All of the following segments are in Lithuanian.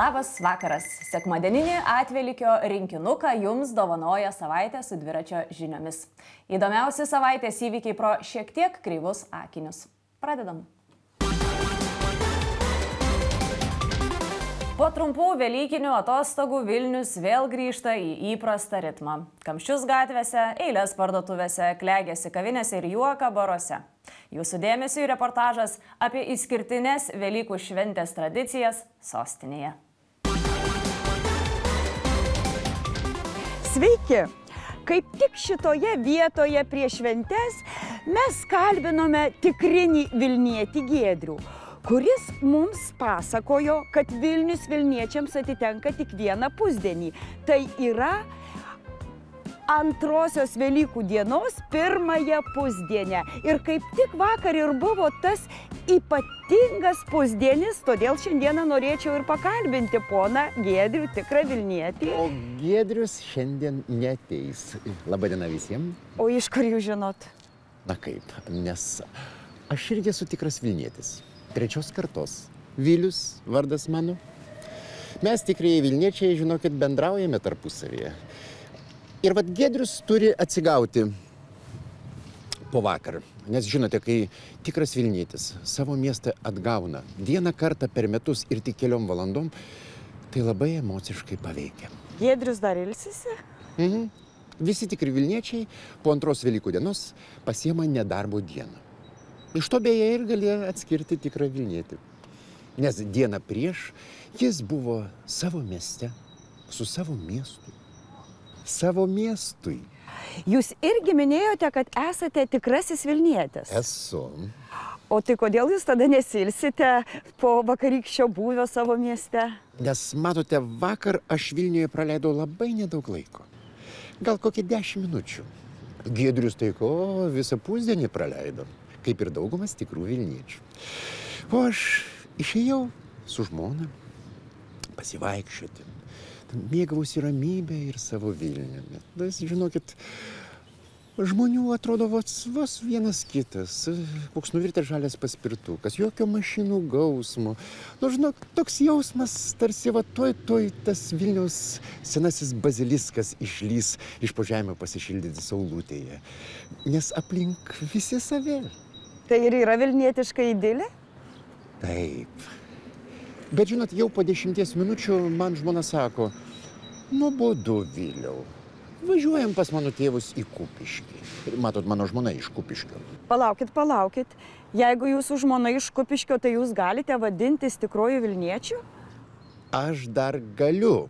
Labas vakaras. Sekmadieninį atvelykio rinkinuką jums dovanoja savaitė su dviračio žiniomis. Įdomiausi savaitės įvykiai pro šiek tiek kreivus akinius. Pradedam. Po trumpų velykinių atostogų Vilnius vėl grįžta į įprastą ritmą. Kamščius gatvėse, eilės parduotuvėse, klegėsi kavinėse ir juoką baruose. Jūsų dėmesiui reportažas apie išskirtines Velykų šventės tradicijas sostinėje. Sveiki! Kaip tik šitoje vietoje prieš šventes mes kalbinome tikrinį Vilnietį Giedrių, kuris mums pasakojo, kad Vilnius Vilniečiams atitenka tik vieną pusdienį. Tai yra antrosios Velykų dienos pirmąją pusdienę. Ir kaip tik vakar ir buvo tas ypatingas pusdienis, todėl šiandieną norėčiau ir pakalbinti poną Giedrių, tikrą Vilnietį. O Giedrius šiandien neateis. Labadiena visiems. O iš kur jūs žinot? Na kaip, nes aš irgi esu tikras Vilnietis. Trečios kartos. Vilius vardas mano. Mes tikrieji Vilniečiai, žinokit, bendraujame tarpusavyje. Ir vat Giedrius turi atsigauti po vakar. Nes žinote, kai tikras Vilnietis savo miestą atgauna vieną kartą per metus ir tik keliom valandom, tai labai emociškai paveikia. Giedrius dar ilsisi? Visi tikri Vilniečiai po antros Velykų dienos pasiema nedarbo dieną. Iš to beje ir galėjo atskirti tikrą Vilnietį. Nes dieną prieš jis buvo savo mieste, su savo miestu. Savo miestui. Jūs irgi minėjote, kad esate tikrasis Vilnietis. Esu. O tai kodėl jūs tada nesilsite po vakarykščio būvio savo mieste? Nes matote, vakar aš Vilniuje praleidau labai nedaug laiko. Gal kokį 10 minučių. Giedrius tai ko visą pusdienį praleido, kaip ir daugumas tikrų Vilniečių. O aš išėjau su žmona pasivaikščioti. Mėgavausi ramybę ir savo Vilniumi. Žinokit, žmonių atrodo vos vienas kitas, koks nuvirtęs žalias paspirtukas, jokio mašinų gausmo. Žinok, toks jausmas, tarsi tuoj tas Vilniaus senasis baziliskas išlys iš po žemę pasišildyti saulutėje. Nes aplink visi savi. Tai ir yra vilnietiška idilė? Taip. Bet žinot, jau po 10 minučių man žmona sako, nuobodu Viliau, važiuojam pas mano tėvus į Kupiškį. Matot, mano žmona iš Kupiškio. Palaukit. Jeigu jūsų žmona iš Kupiškio, tai jūs galite vadintis tikruoju Vilniečiu? Aš dar galiu,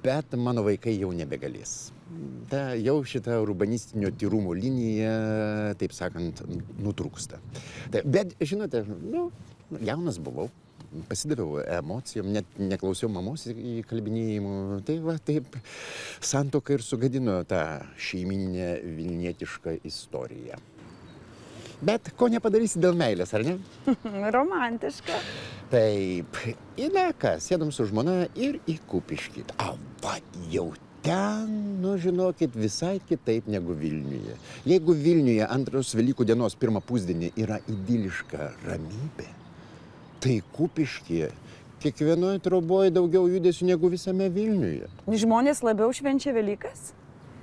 bet mano vaikai jau nebegalės. Jau šita urbanistinio tyrumo linija, taip sakant, nutrūksta. Bet, žinote, jaunas buvau. Pasidaviau emocijom, net neklausiau mamos įkalbinėjimų. Tai va, taip santuoka ir sugadino tą šeimyninę vilnietišką istoriją. Bet ko nepadarysi dėl meilės, ar ne? Romantiška. Taip. Ir ką, sėdom su žmona ir į Kupiškį. Va, jau ten, žinokit, visai kitaip negu Vilniuje. Jeigu Vilniuje antros Velykų dienos pirmą pusdienį yra idiliška ramybė, tai Kupiškyje kiekvienoje troboje daugiau judesių negu visame Vilniuje. Žmonės labiau švenčia Velykas?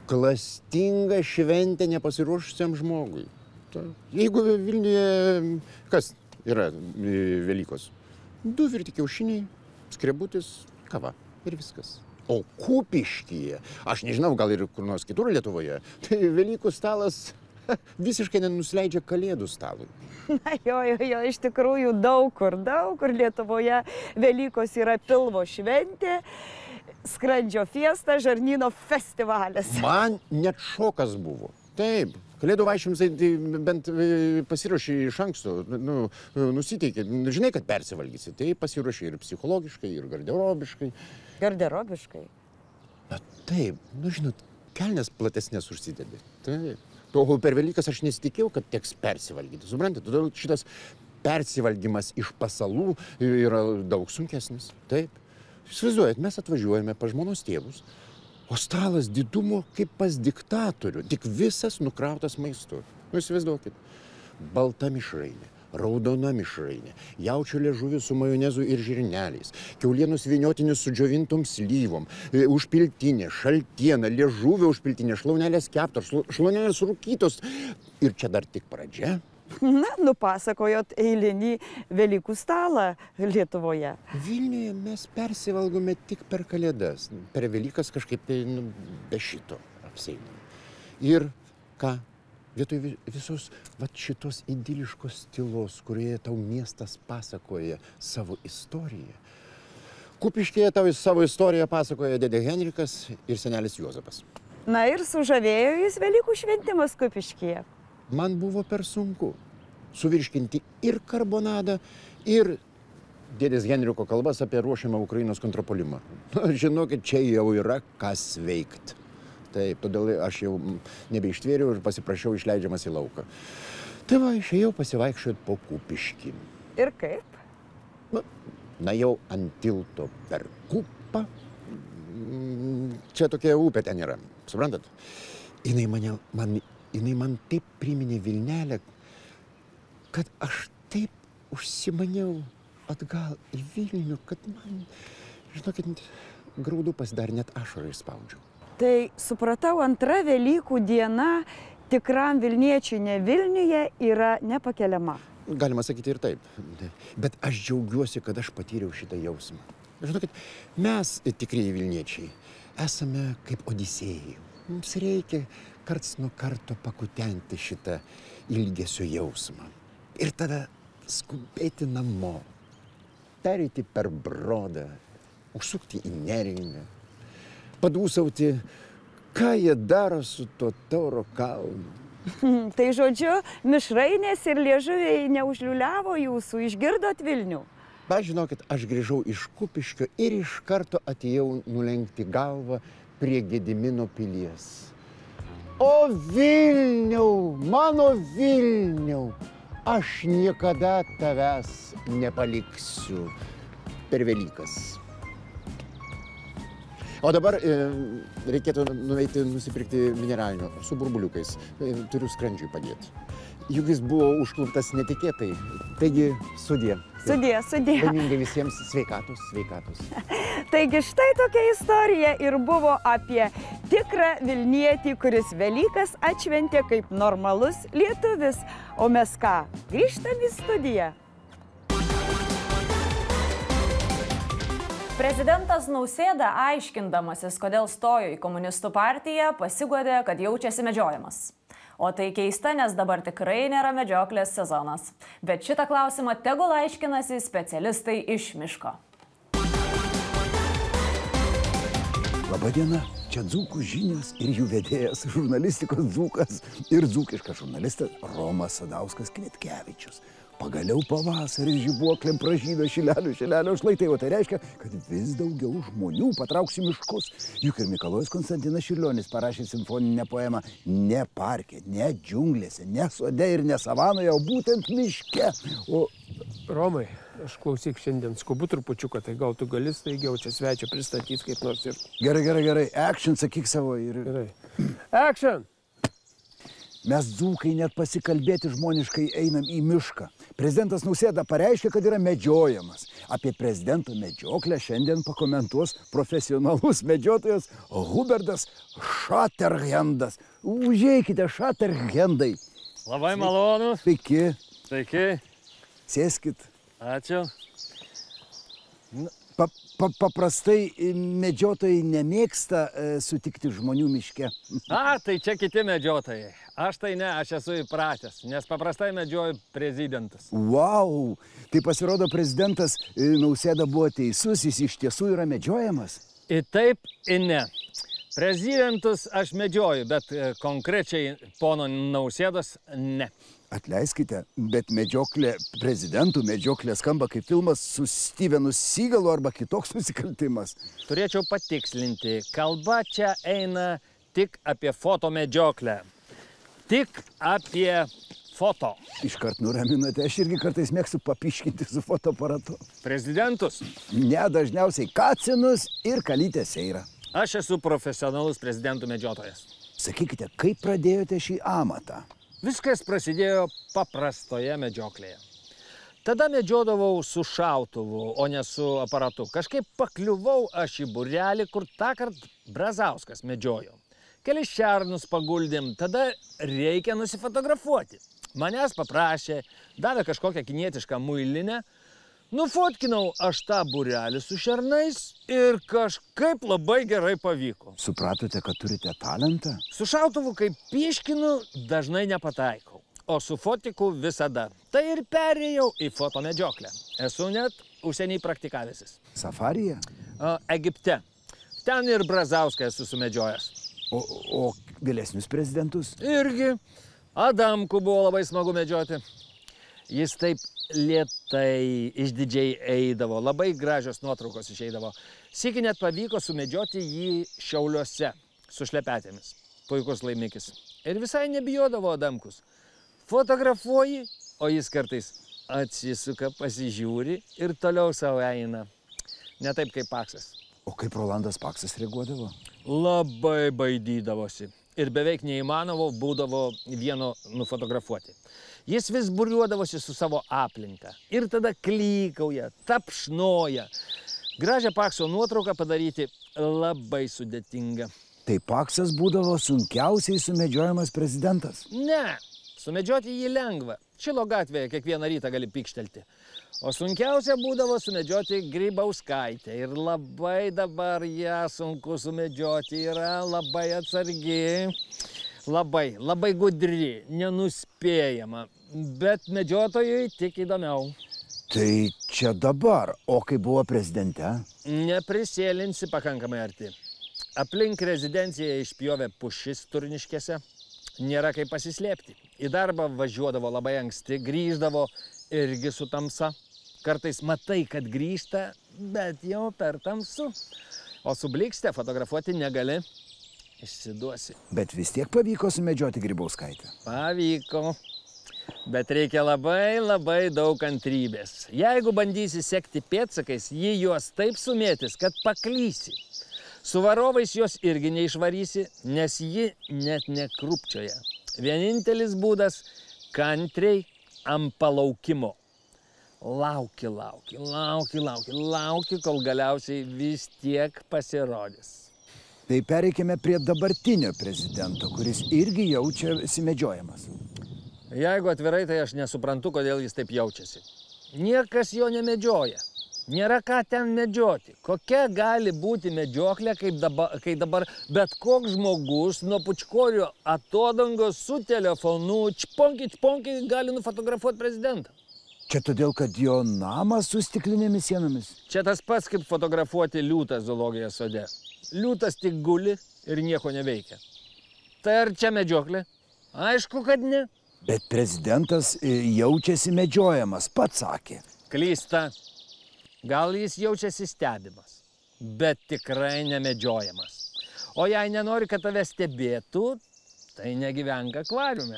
Klastinga šventė nepasiruošusiam žmogui. Jeigu Vilniuje kas yra Velykos? 2 virti kiaušiniai, skrebutis, kava ir viskas. O Kupiškyje, aš nežinau, gal ir kur nors kitur Lietuvoje, tai Velykų stalas visiškai nenusileidžia Kalėdų stalui. Na jo, iš tikrųjų daug kur Lietuvoje Velykos yra pilvo šventė, skrandžio fiesta, žarnyno festivalis. Man net šokas buvo. Taip, Kalėdų vaišėms tai bent pasiruoši iš anksto, nusiteikė, žinai, kad persivalgysi, tai pasiruoši ir psichologiškai, ir garderobiškai. Garderobiškai? Na taip, žinot, kelnes platesnės užsidedi. Taip. O per Velykas aš nesitikėjau, kad teks persivalgyti. Suprantate, todėl šitas persivalgymas iš pasalų yra daug sunkesnis. Taip. Įsivaizduojat, mes atvažiuojame pas žmonos tėvus, o stalas didumo kaip pas diktatorių, tik visas nukrautas maistu. Įsivaizduokit. Balta mišrainė, raudona mišrainė, jaučio liežuvis su majonezu ir žirneliais, kiaulienos vyniotinis su džiovintom slyvom, užpiltinė, šaltiena, liežuvio užpiltinė, šlaunelės keptos, šlaunelės rūkytos. Ir čia dar tik pradžia. Na, nupasakojot eilinį Velykų stalą Lietuvoje. Vilniuje mes persivalgome tik per Kalėdas. Per Velykas kažkaip tai be šito apseinam. Ir ką? Vietoj visos šitos idiliškos tylos, kurioje tau miestas pasakoja savo istoriją, Kupiškyje tau savo istoriją pasakoja dėdė Henrikas ir senelis Juozapas. Na ir sužavėjo jis Velykų šventimas Kupiškyje. Man buvo per sunku suvirškinti ir karbonadą, ir dėdės Henriko kalbas apie ruošiamą Ukrainos kontrapuolimą. Žinokit, čia jau yra kas veikt. Taip, todėl aš jau nebeištvėriau ir pasiprašiau išleidžiamas į lauką. Tai va, išėjau pasivaikščioti po Kupiškį. Ir kaip? Na jau ant tilto per Kupą. Čia tokia upė ten yra, suprantat? Jinai man taip priminė Vilnelę, kad aš taip užsimaniau atgal į Vilnių, kad man, žinokit, graudu pasidarė, net ašarą išspaudžiau. Tai supratau, antra Velykų diena tikram Vilniečiui ne Vilniuje yra nepakeliama. Galima sakyti ir taip. Bet aš džiaugiuosi, kad aš patyriau šitą jausmą. Žinokit, mes, tikrieji Vilniečiai, esame kaip Odisėjai. Mums reikia karts nuo karto pakutenti šitą ilgesio jausmą. Ir tada skubėti namo, pereiti per Brodą, užsukti į Neringą, padūsauti, ką jie daro su to Tauro kalnu. Tai žodžiu, mišrainės ir liežuviai neužliuliavo jūsų, išgirdot Vilnių? Bet žinokit, aš grįžau iš Kupiškio ir iš karto atėjau nulenkti galvą prie Gedimino pilies. O Vilniau, mano Vilniau, aš niekada tavęs nepaliksiu per Velykas. O dabar reikėtų nuveiti nusipirkti mineralinio su burbuliukais. Turiu skrandžiui padėti. Juk jis buvo užkluptas netikėtai. Taigi, sudie. Sudie. Laimingai visiems sveikatos. Taigi štai tokia istorija ir buvo apie tikrą Vilnietį, kuris Velykas atšventė kaip normalus lietuvis. O mes ką? Grįžtam į studiją. Prezidentas Nausėda, aiškindamasis, kodėl stojo į komunistų partiją, pasiguodė, kad jaučiasi medžiojamas. O tai keista, nes dabar tikrai nėra medžioklės sezonas. Bet šitą klausimą tegul aiškinasi specialistai iš miško. Labadiena, čia Dzūkų žinios ir jų vedėjas, žurnalistikos dzūkas ir dzūkiškas žurnalistas Romas Sadauskas Kvietkevičius. Pagaliau pavasaris žibuoklėm pražydo šilelio šlaitai, o tai reiškia, kad vis daugiau žmonių patrauks į miškus. Juk ir Mikalojus Konstantinas Čiurlionis parašė simfoninę poemą ne parke, ne džiunglėse, ne sode ir ne savanoje, o būtent miške. O Romai, aš klausyk šiandien skubu trupučiuką, tai gal tu gali staigiau čia svečią pristatyti kaip nors ir... Gerai. Action, sakyk savo ir... Gerai. Action! Mes dzūkai net pasikalbėti žmoniškai einam į mišką. Prezidentas Nausėda pareiškė, kad yra medžiojamas. Apie prezidento medžioklę šiandien pakomentuos profesionalus medžiotojas Hubertas Šaterhendas. Užeikite, Šaterhendai. Labai malonu. Sveiki. Sveiki. Sėskit. Ačiū. Paprastai medžiotojai nemėgsta sutikti žmonių miške. Tai čia kiti medžiotojai. Aš tai ne, aš esu įpratęs, nes paprastai medžioju prezidentus. Vau! Tai pasirodo, prezidentas Nausėda buvo teisus, jis iš tiesų yra medžiojamas? Ir taip, ir ne. Prezidentus aš medžioju, bet konkrečiai pono Nausėdos ne. Atleiskite, bet prezidentų medžioklė skamba kaip filmas su Stevenu Seagalu arba kitoks nusikaltimas. Turėčiau patikslinti, kalba čia eina tik apie fotomedžioklę. Tik apie foto. Iškart nuraminote, aš irgi kartais mėgstu papiškinti su fotoaparatu. Prezidentus? Ne, dažniausiai kacinus ir kalytę seirą. Aš esu profesionalus prezidentų medžiotojas. Sakykite, kaip pradėjote šį amatą? Viskas prasidėjo paprastoje medžioklėje. Tada medžiodavau su šautuvu, o ne su aparatu. Kažkaip pakliuvau aš į būrelį, kur tąkart Brazauskas medžiojo. Kelis šernus paguldėm, tada reikia nusifotografuoti. Manęs paprašė, davė kažkokią kinietišką muilinę. Nufotkinau aš tą būrelį su šernais ir kažkaip labai gerai pavyko. Supratote, kad turite talentą? Su šautuvu, kaip pieškinu, dažnai nepataikau, o su fotiku visada. Tai ir perėjau į fotomedžioklę. Esu net užsienį praktikavęsis. Safaryje? Egipte. Ten ir Brazauską esu sumedžiojęs. O vėlesnius prezidentus? Irgi. Adamkų buvo labai smagu medžioti. Jis taip lėtai, išdidžiai eidavo, labai gražios nuotraukos išeidavo. Sykį net pavyko sumedžioti jį Šiauliuose su šlepetėmis. Puikus laimikis. Ir visai nebijodavo Adamkus. Fotografuoji, o jis kartais atsisuka, pasižiūri ir toliau savo eina. Ne taip kaip Paksas. O kaip Rolandas Paksas reaguodavo? Labai baidydavosi. Ir beveik neįmanomo būdavo vieno nufotografuoti. Jis vis būriuodavosi su savo aplinka. Ir tada klykauja, tapšnoja. Gražią Pakso nuotrauką padaryti labai sudėtinga. Tai Paksas būdavo sunkiausiai sumedžiojamas prezidentas? Ne, sumedžioti jį lengva. Šilo gatvėje kiekvieną rytą gali pikštelti. O sunkiausia būdavo sumedžioti Grybauskaitę. Ir labai dabar ją sunku sumedžioti. Yra labai atsargi, labai gudri, nenuspėjama. Bet medžiotojui tik įdomiau. Tai čia dabar, o kai buvo prezidente? Neprisėlinsi pakankamai arti. Aplink rezidenciją išpjovė pušis Turniškėse. Nėra kaip pasislėpti. Į darbą važiuodavo labai anksti, grįždavo irgi su tamsa. Kartais matai, kad grįžta, bet jau per tamsu. O su blikste fotografuoti negali. Išsiduosi. Bet vis tiek pavyko sumedžioti Grybauskaitę? Pavyko. Bet reikia labai daug kantrybės. Jeigu bandysi sekti pėdsakais, ji juos taip sumėtis, kad paklysi. Su varovais jos irgi neišvarysi, nes ji net nekrupčioja. Vienintelis būdas – kantriai ant palaukimo. Lauki, kol galiausiai vis tiek pasirodys. Tai pereikime prie dabartinio prezidento, kuris irgi jaučiasi medžiojamas. Jeigu atvirai, tai aš nesuprantu, kodėl jis taip jaučiasi. Niekas jo nemedžioja. Nėra ką ten medžioti. Kokia gali būti medžioklė, kai dabar bet koks žmogus nuo Pučkorio atodangos su telefonu čponki gali nufotografuoti prezidentą. Čia todėl, kad jo namas su stiklinėmis sienomis? Čia tas pats, kaip fotografuoti liūtą zoologijos sode. Liūtas tik guli ir nieko neveikia. Tai ar čia medžioklė? Aišku, kad ne. Bet prezidentas jaučiasi medžiojamas, pats sakė. Klysta. Gal jis jaučiasi stebimas, bet tikrai nemedžiojamas. O jei nenori, kad tave stebėtų, tai negyvenk akvariume.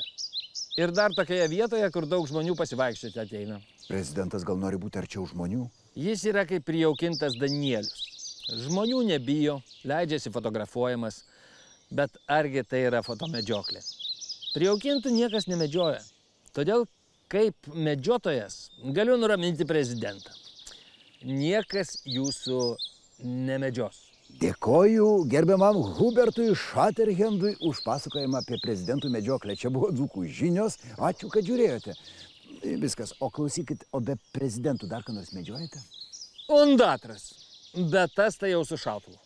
Ir dar tokioje vietoje, kur daug žmonių pasivaikščioti ateina. Prezidentas gal nori būti arčiau žmonių? Jis yra kaip prijaukintas Danielius. Žmonių nebijo, leidžiasi fotografuojamas, bet argi tai yra fotomedžioklė? Prijaukintų niekas nemedžioja. Todėl, kaip medžiotojas, galiu nuraminti prezidentą. Niekas jūsų nemedžios. Dėkoju gerbiamam Hubertui Šaterhendui už pasakojimą apie prezidentų medžioklę. Čia buvo Dzūkų žinios. Ačiū, kad žiūrėjote. Viskas. O klausykit, o be prezidentų dar ką nors medžiojate? Undatras. Bet tas tai jau su šautuvu.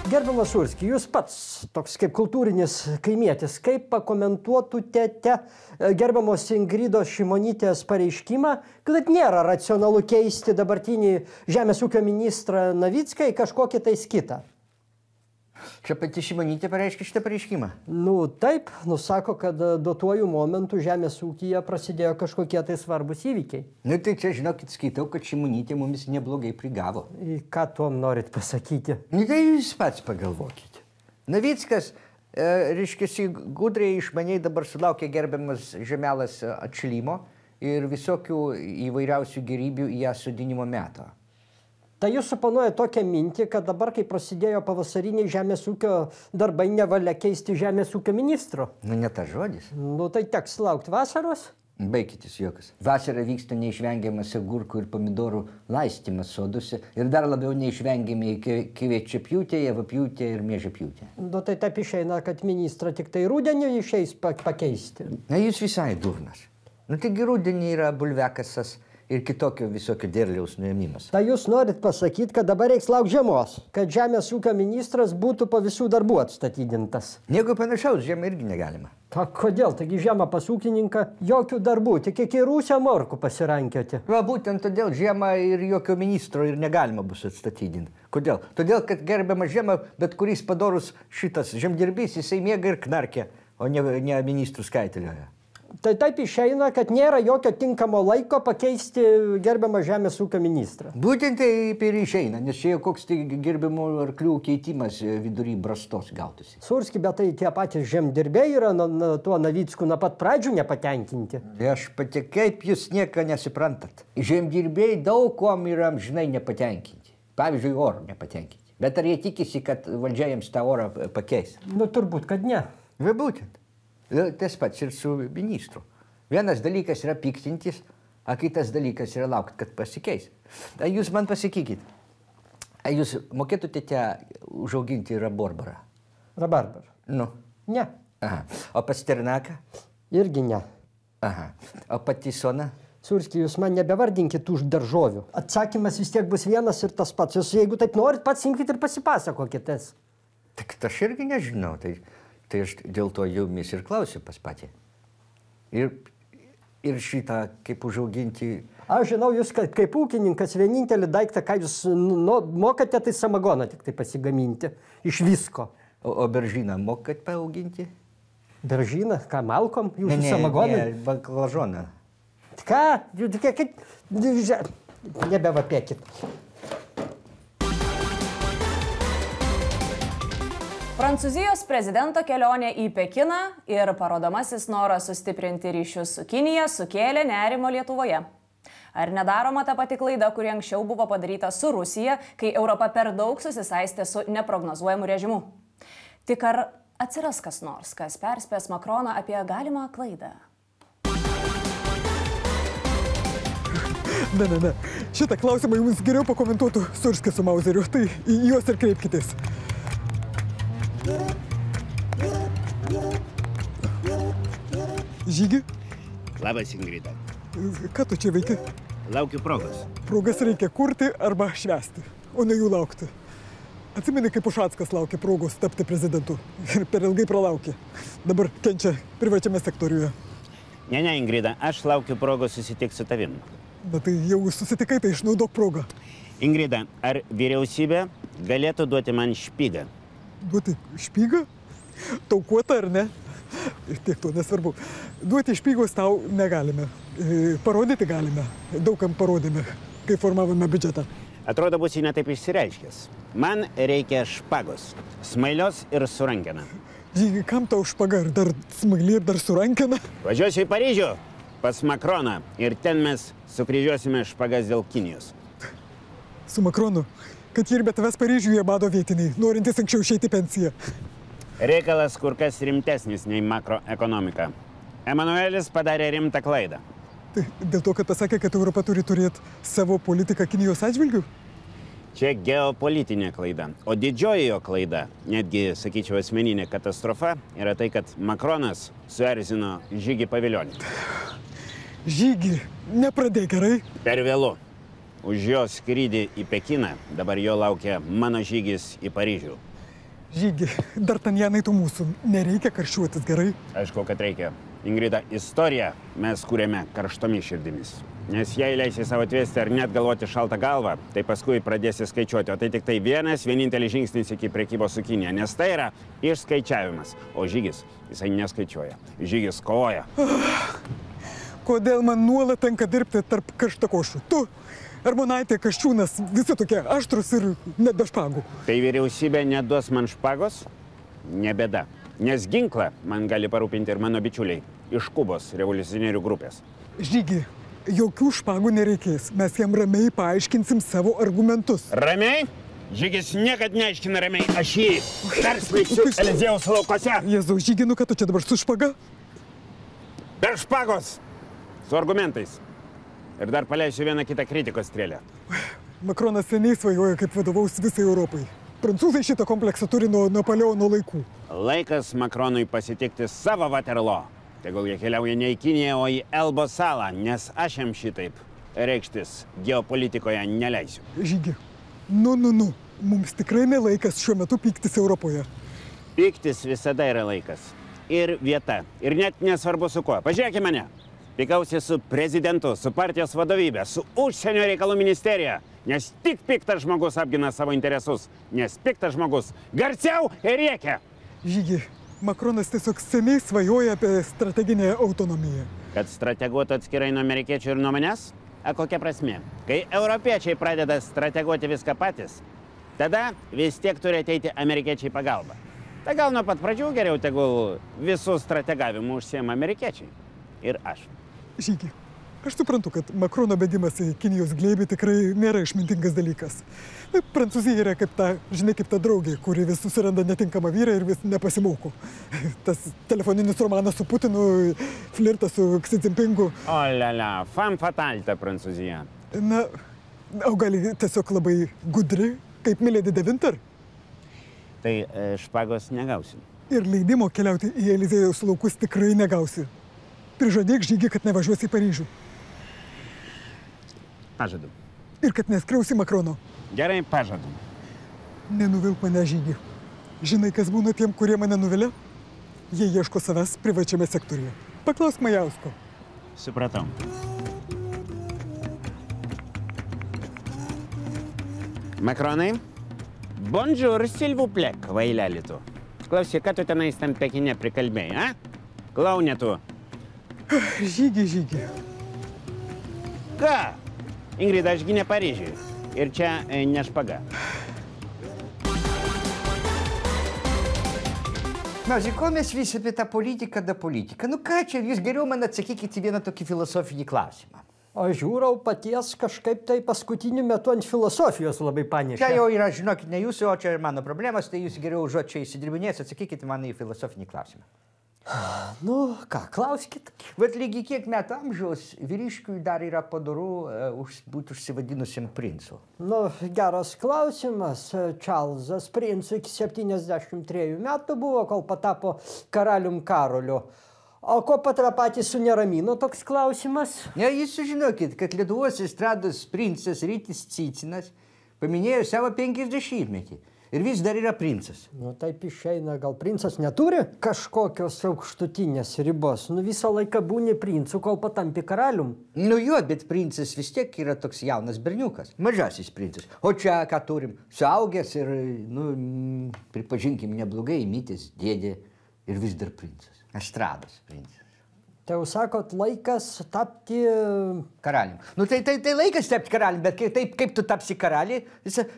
Gerbiamas Šulski, jūs pats, toks kaip kultūrinis kaimietis, kaip pakomentuotumėte gerbiamos Ingridos Šimonytės pareiškimą, kad nėra racionalu keisti dabartinį žemės ūkio ministrą Navicką į kažkokį tais kitą? Čia pati Šimonytė pareiškė šitą pareiškimą? Taip, sako, kad duotuoju momentu žemės ūkyje prasidėjo kažkokie tai svarbus įvykiai. Tai čia, žinokit, skaitau, kad Šimonytė mumis neblogai prigavo. Ką tuom norit pasakyti? Tai jūs pats pagalvokite. Navickas, reiškiasi, gudriai išmaniai dabar sulaukė gerbiamas žemelas atšilimo ir visokių įvairiausių gerybių į ją sodinimo meto. Tai jūs suponuoja tokią mintį, kad dabar, kai prasidėjo pavasariniai žemės ūkio darbai, nevalia keisti žemės ūkio ministro? Ne tas žodis. Tai teks laukti vasaros? Baigitis juokas. Vasarą vyksta neišvengiamas agurkų ir pomidorų laistymas soduose ir dar labiau neišvengiami kviečiapjūtė, javapjūtė ir miežiapjūtė. Nu tai taip išeina, kad ministrą tik tai rudenį išeis pakeisti. Na, jūs visai durnas. Nu, taigi rudenį yra bulvekasas ir kitokio visokio derliaus nuėmimas. Tai jūs norit pasakyti, kad dabar reiks laukti žiemos, kad žemės ūkio ministras būtų po visų darbų atstatydintas. Nieko panašaus, žiemą irgi negalima. Ta kodėl? Taigi žiemą pas ūkininką jokių darbų, tik iki rūsio morkų pasirankioti. Va, būtent todėl žiemą ir jokio ministro ir negalima bus atstatydinti. Kodėl? Todėl, kad gerbiama žiemą, bet kuris padorus šitas žemdirbys, jisai miega ir knarkia, o ne ministrų skaitilioje. Tai taip išeina, kad nėra jokio tinkamo laiko pakeisti gerbiamą žemės ūkio ministrą. Būtent taip ir išeina, nes čia jau koks tai gerbiamų arklių keitimas vidury brastos gautųsi. Surski, bet tai tie patys žemdirbiai yra tuo Navicku nuo pat pradžių nepatenkinti. Aš pati, kaip jūs nieko nesuprantat. Žemdirbiai daug kuom yra amžinai nepatenkinti. Pavyzdžiui, oro nepatenkinti. Bet ar jie tikisi, kad valdžia jiems tą orą pakeis? Nu, turbūt, kad ne. Va, būtent. Tas pats ir su ministru. Vienas dalykas yra piktintis, o kitas dalykas yra laukti, kad pasikeis. Jūs man pasakykit, jūs mokėtumėte užauginti rabarbarą? Rabarbarą? Nu. Ne. Aha. O pasternaką? Irgi ne. Aha. O patisoną? Surski, jūs man nebevardinkit už daržovių. Atsakymas vis tiek bus vienas ir tas pats. Jūs, jeigu taip norit, pats imkit ir pasipasakokitės. Tik aš irgi nežinau. Tai aš dėl to jumis ir klausiu pas patį. Ir šitą, kaip užauginti... Aš žinau, jūs kaip ūkininkas vienintelį daiktą, ką jūs mokate, tai samagoną tik tai pasigaminti. Iš visko. O beržyną mokat paauginti? Beržyną? Ką, malkom? Jūsų samagonai? Ne, baklažoną. Ką? Nebevapėkit. Prancūzijos prezidento kelionė į Pekiną ir parodomasis noras sustiprinti ryšius su Kinija sukėlė nerimo Lietuvoje. Ar nedaroma ta pati klaida, kuri anksčiau buvo padaryta su Rusija, kai Europa per daug susisaistė su neprognozuojamu režimu? Tik ar atsiras kas nors, kas perspės Makroną apie galimą klaidą? Ne. Šitą klausimą jums geriau pakomentuotų Surskis su Mauzeriu, tai į juos ir kreipkitės. Žygi? Labas, Ingrida. Ką tu čia veiki? Laukiu progos. Progas reikia kurti arba švęsti, o ne jų laukti. Atsimeni, kaip Ušackas laukė progos tapti prezidentu ir per ilgai pralaukė. Dabar kenčia privačiame sektoriuje. Ne, Ingrida, aš laukiu progos susitikti su tavim. Na tai jau susitikai, tai išnaudok progą. Ingrida, ar vyriausybė galėtų duoti man špygą? Duoti špygą? Taukuotą ar ne? Tiek to nesvarbu. Duoti špygos tau negalime. Parodyti galime. Daugam parodėme, kai formavome biudžetą. Atrodo, būsi netaip išsireiškęs. Man reikia špagos. Smailios ir su rankena. Žygi, kam tau špaga? Ir dar smaili, ir dar su rankena? Važiuosiu į Paryžių pas Makroną ir ten mes sukryžiuosime špagas dėl Kinijos. Su Makronu? Kad jie ir be tavęs Paryžiuje bado vietiniai, norintys anksčiau išeiti pensiją. Reikalas kur kas rimtesnis nei makroekonomika. Emanuelis padarė rimtą klaidą. Tai dėl to, kad pasakė, kad Europa turi turėti savo politiką Kinijos atžvilgiu? Čia geopolitinė klaida. O didžioji jo klaida, netgi, sakyčiau, asmeninė katastrofa, yra tai, kad Makronas suerzino Žygį Pavilionį. Žygį, nepradėk gerai. Per vėlu. Už jo skrydį į Pekiną dabar jo laukia mano žygis į Paryžių. Žygi, D'Artagnanai tu mūsų, nereikia karščiuotis, gerai? Aišku, kad reikia. Ingrida, istoriją mes kūrėme karštomis širdimis. Nes jei leisi savo atvesti ar net galvoti šaltą galvą, tai paskui pradėsi skaičiuoti. O tai tik tai vienintelis žingsnis iki prekybos su Kinija. Nes tai yra išskaičiavimas. O žygis, jisai neskaičiuoja. Žygis kovoja. Kodėl man nuolat tenka dirbti tarp karštakošių? Tu, Armonaitė, Kasčiūnas, visi tokie aštrus ir net be špagų. Tai vyriausybė neduos man špagos? Ne bėda. Nes ginklą man gali parūpinti ir mano bičiuliai iš Kubos revoliucionierių grupės. Žygi, jokių špagų nereikės. Mes jam ramiai paaiškinsim savo argumentus. Ramiai? Žygis niekad neaiškina ramiai. Aš jį persmeigsiu Eliziejaus laukose. Jėzau, Žygi, nu ką tu čia dabar su špaga? Per špagos. Su argumentais. Ir dar paleisiu vieną kitą kritikos strėlę. Makronas seniai svajoja, kaip vadovaus visai Europai. Prancūzai šitą kompleksą turi nuo Napoleono laikų. Laikas Makronui pasitikti savo Waterloo. Tegul jie keliauja ne į Kiniją, o į Elbos salą, nes aš jam šitaip reikštis geopolitikoje neleisiu. Žygi, nu. Mums tikrai nelaikas šiuo metu pyktis Europoje. Pyktis visada yra laikas. Ir vieta. Ir net nesvarbu su kuo. Pažiūrėkime mane. Pykausi su prezidentu, su partijos vadovybė, su užsienio reikalų ministerija. Nes tik piktas žmogus apgina savo interesus. Nes piktas žmogus garsiau ir rėkia. Žygi, Makronas tiesiog seniai svajoja apie strateginę autonomiją. Kad strateguotų atskirai nuo amerikiečių ir nuo manęs? A kokia prasmė? Kai europiečiai pradeda strateguoti viską patys, tada vis tiek turi ateiti amerikiečiai pagalba. Tai gal nuo pat pradžių geriau tegul visų strategavimų užsiema amerikiečiai. Ir aš. Žygi, aš suprantu, kad Makrono bėgimas į Kinijos glėbį tikrai nėra išmintingas dalykas. Prancūzija yra kaip ta draugė, kuri vis susiranda netinkamą vyrą ir vis nepasimoko. Tas telefoninis romanas su Putinu, flirtas su Xi Jinpingu. O lala, femme fatale ta Prancūzija. Na, o gal tiesiog labai gudri, kaip Milady de Winter? Tai špagos negausi. Ir leidimo keliauti į Eliziejaus laukus tikrai negausi. Prižadėk, Žygi, kad nevažiuosi į Paryžių. Pažadu. Ir kad neskriausi Makrono. Gerai, pažadu. Nenuvilk mane, Žygi. Žinai, kas būna tiem, kurie mane nuvilia? Jie ieško savęs privačiame sektoriuje. Paklausk Majausko. Supratau. Makronai, bonjour, s'il vous plaît, kvaileli tu. Klausyk, ką tu tenais tam Pekine prikalbėjai, a? Klaunė tu. Žygi. Ką? Ingrida, aš gi ne Paryžiui. Ir čia ne špaga. Mažai, ko mes visi apie tą politiką da politiką? Nu ką čia, jūs geriau man atsakykite vieną tokį filosofinį klausimą. Aš žiūrau paties kažkaip tai paskutiniu metu ant filosofijos labai panešė. Čia jau yra, žinokit, ne jūsų, o čia ir mano problemos, tai jūs geriau užuot čia įsidirbinės, atsakykite man į filosofinį klausimą. Nu, ką, klauskit. Bet lygiai kiek metų amžiaus vyriškiui dar yra padoru būti užsivadinusiam princu? Nu, geras klausimas. Čarlzas princu iki 73 metų buvo, kol patapo karalium Karoliu. O ko patys suneramino toks klausimas? Ne, jūs sužinokit, kad Lietuvos estrados princas Rytis Cicinas paminėjo savo 50-metį. Ir vis dar yra princas. Nu, taip išeina, gal princas neturi kažkokios aukštutinės ribos. Nu, visą laiką būni princu, kol patampi karalium. Nu jo, bet princas vis tiek yra toks jaunas berniukas. Mažasis princas. O čia ką turim? Suaugęs ir, nu, pripažinkim, neblogai įmytis dėdė ir vis dar princas. Estrados princas. Tai jau sakot, laikas tapti karalium. Nu, tai laikas tapti karalium, bet kaip tu tapsi karaliai,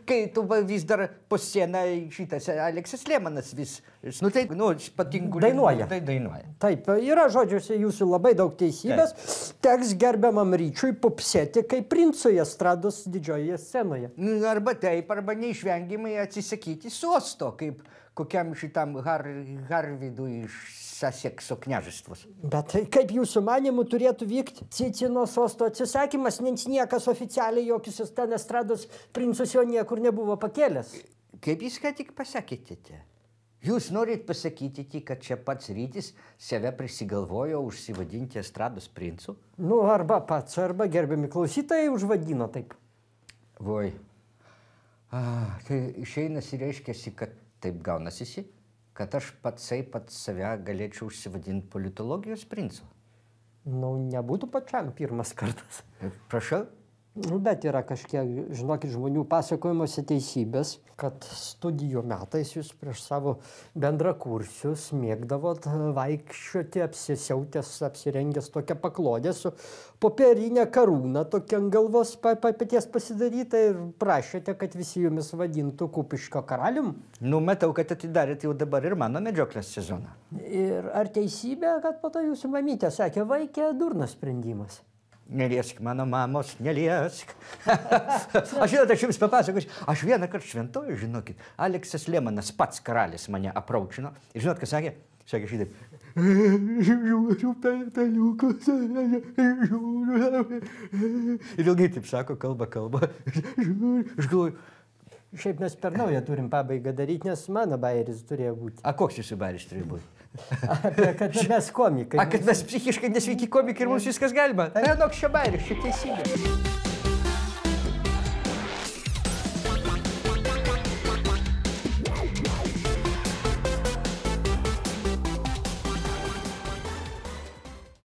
kai tu vis dar po sceną šitas Aleksas Lemanas vis, nu, tai, nu, patinku. Dainuoja. Tai dainuoja. Taip, yra žodžiuose jūsų labai daug teisybės. Teks gerbiamam Ryčiui pupsėti kaip princui estrados didžiojoje scenoje. Arba taip, arba neišvengiamai atsisakyti sosto, kaip kokiam šitam Harvidui iš Sasekso kняžestvos. Bet kaip jūsų manimų turėtų vykti Cicino sosto atsisakymas, nes niekas oficialiai jokius ten estrados princus jo niekur nebuvo pakėlęs. Kaip jūs ką tik pasakėte? Jūs norit pasakyti, kad čia pats Rytis save prisigalvojo užsivadinti estrados princu? Nu, arba pats, arba gerbiami klausytojai užvadino taip. Voi. Tai išeinas ir reiškiasi, kad taip gaunasi, kad aš pats save galėčiau užsivadinti politologijos princu. Nu, nebūtų pačiam pirmas kartas. Prašau? Nu, bet yra kažkiek, žinokit, žmonių pasakojimuose teisybės, kad studijų metais jūs prieš savo bendrakursius mėgdavot vaikščioti apsisiautęs, apsirengęs tokią paklodę su popierinė karūna tokia ant galvos paties pasidaryta ir prašėte, kad visi jumis vadintų Kupiškio karalium. Nu, matau, kad atidarėt jau dabar ir mano medžioklės sezoną. Ir ar teisybė, kad po to jūsų mamytė sakė, vaikė, durnas sprendimas? Neliesk mano mamos, neliesk. Aš jums papasakosiu. Aš vieną kartą šventoju, žinokit, Aleksas Lemanas pats karalis mane apraučino. Ir žinot, ką sakė? sakė šitaip. Žiūriu peliukus. Ir ilgai taip sako, kalba. Aš galvoju. Šiaip mes per naują turim pabaigą daryti, nes mano bairis turėjo būti. A koks jūsų bairis turėjo būti? Kad mes komikai. Kad mes psichiškai nesveiki komikai ir mums viskas galima. Nenok čia bairis, čia teisybė.